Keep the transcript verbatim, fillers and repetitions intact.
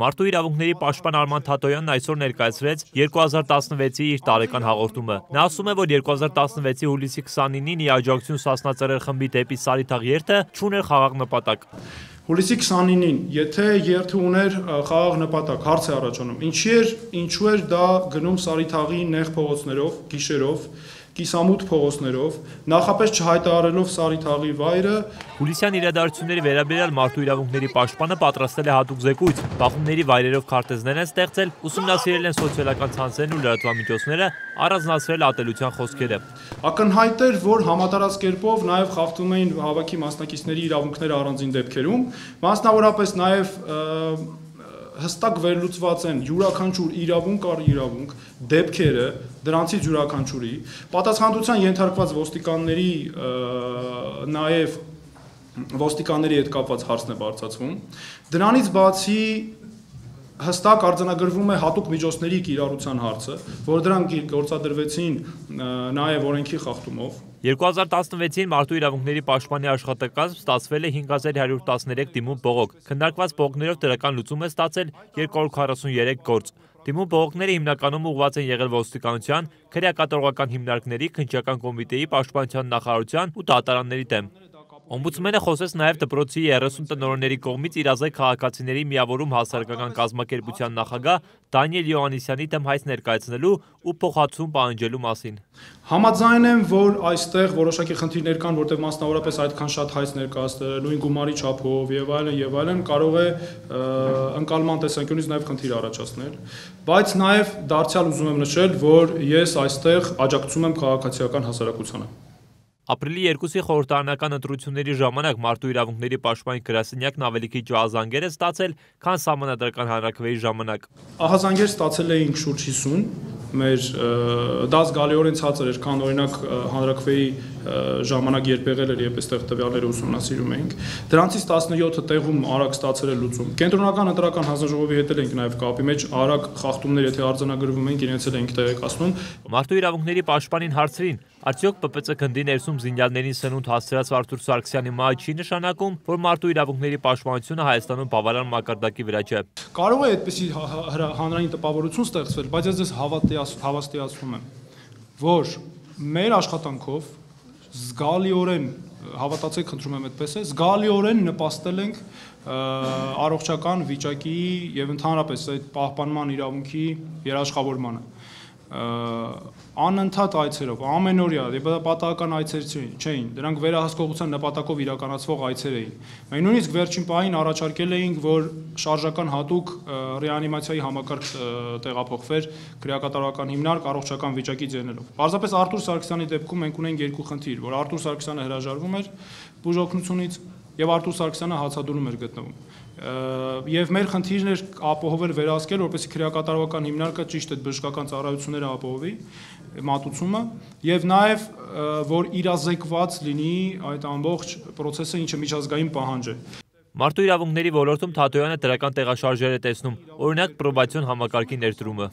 Մարդու իրավունքների պաշտպան Արման Թաթոյանն այսօր ներկայացրեց երկու հազար տասնվեցի իր տարեկան հաղորդումը։ Նա ասում է, որ երկու հազար տասնվեցի հուլիսի քսանինին ի աջակցություն Սասնա Ծռեր խմբի դեպի Սարիթաղ երթը չուներ խաղաղ նպատակ։ Հուլիսի քսանինին, եթե երթը ուներ խաղաղ նպատակ, հարց է առաջանում, ինչի էր, ինչու էր դա գնում Սարիթաղի նեղ փողոցներով, գիշերով, կիսամութ փողոցներով, նախապես չհայտարարելով Սարիթաղի վայրը։ Հուլիսյան իրադարձությունների վերաբերյալ մարդու իրավունքների պաշտպանը պատրաստել է հատուկ զեկույց, բախումների վայրերով քարտեզներ են ստեղծել, ուսումնասիրել են սոցիալական ցանցերն ու լրատվամիջոցները, առանձնացրել ատելության խոսքերը։ Ակնհայտ էր, որ համատարած կերպով նաև խախտում էին հավաքի մասնակիցների իրավունքները առանձին դեպքերում, մասնավորապես նաև հստակ վերլուծված են յուրաքանչյուր իրավունք առ իրավունք, դեպքերը, դրանցից յուրաքանչյուրի, պատասխանատվության ենթարկված ոստիկանների նաև ոստիկանների հետ կապված հարցն է բարձրացվում։ Դրանից բացի հստակ արձանագրվում է հատուկ միջոցների կիրառության հարցը, որ դրանք գործադրվեցին նաև օրենքի խախտումով։ երկու հազար տասնվեցին մարդու իրավունքների պաշտպանի աշխատակազմ ստացվել է հինգ հազար հարյուր տասներեք դիմում բողոք, քննարկված բողոքներով դրական լուծում է ստացել երկու հարյուր քառասունյոթ գործ։ Դիմում բողոքները հիմնականում ուղղված են եղել ոստիկանության, քրեակատարողական հիմնարկների, քննչական կոմիտեի, պաշտպանության նախարարության ու դատարանների դեմ։ Օմբուդսմենը խոսեց նաև դպրոցի երեսուն տնօրենների կողմից իրազեկ քաղաքացիների միավորում հասարակական կազմակերպության նախագահ Դանիել Յոհաննիսյանի դեմ հայց ներկայացնելու ու փոխհատուցում պահանջելու մասին։ Համաձայն եմ, որ այստեղ որոշակի խնդիրներ կան, որտեղ մասնավորապես այդքան շատ հայց ներկայացնել, նույն գումարի չափով եւ այլն եւ այլն կարող է ընկալման տեսանկյունից նաև խնդիր առաջացնել, բայց նաև դարձյալ ուզում եմ նշել, որ ես այստեղ աջակցում եմ քաղաքացիական հասարակությանը։ Ապրիլի երկուսի խորհրդարանական ընտրությունների ժամանակ մարդու իրավունքների պաշտպանի գրասենյակն ավելի քիչ ահազանգեր է ստացել, քան սահմանադրական հանրաքվեի ժամանակ։ Ահազանգեր ստացել էինք շուրջ հիսուն, մեր դա զգալիորեն ցածր էր, քան օրինակ հանրաքվեի ժամանակ երբ եղել էր, երբ այստեղ տվյալները ուսումնասիրում էինք։ Դրանցից տասնյոթը տեղում արագ ստացել է լուծում։ Կենտրոնական ընտրական հանձնաժողովի հետ ենք նաև կապի մեջ, արագ խախտումներ, եթե արձանագրվում են, իրենց էլ ենք տեղեկացնում։ Մարդու իրավունքների պաշտպանին հարցրին, արդյոք Պ Պ Ց գնդի ներսում զինյալներին սնունդ հասցրած Արթուր Սարգսյանի մահը չի նշանակում, որ մարդու իրավունքների պաշտպանությունը Հայաստանում բավարար մակարդակի վրա չէ։ Կարող է այդպիսի հանրային տպավորություն ստեղծվել, բայց ես ձեզ հավաստիացնում եմ, որ մեր աշխատանքով զգալիորեն, հավատացեք, խնդրում եմ այդպես է, զգալիորեն նպաստել ենք առողջական վիճակի եւ ընդհանրապես այդ պահպանման իրավունքի երաշխավորմանը։ Անընդհատ այցերով, ամենօրյա, պատահական այցեր չէին, դրանք վերահսկողության նպատակով իրականացվող այցեր էին։ Մենք նույնիսկ վերջին պահին առաջարկել էինք, որ շարժական հատուկ ռեանիմացիայի համակարգ տեղափոխվեր քրեակատարողական հիմնարկ առողջական վիճակի ձեռներով։ Պարզապես Արթուր Սարգսյանի դեպքում մենք ունենք երկու խնդիր, որ Արթուր Սարգսյանը հրաժարվում էր բուժօգնությունից եւ Արթուր Սարգսյանը հացադուլում էր գտնվում։ Եվ մեր խնդիրն էր ապահովել վերահսկել, որպեսզի քրեակատարողական հիմնարկը ճիշտ այդ բժշկական ծառայությունները ապահովի, մատուցումը, եւ նաեւ որ իրազեկված լինի այդ ամբողջ process-ը, ինչը միջազգային պահանջ է։ Մարդու իրավունքների ոլորտում Թաթոյանը դրական տեղաշարժեր է տեսնում, օրինակ պրոբացիոն համակարգի ներդրումը։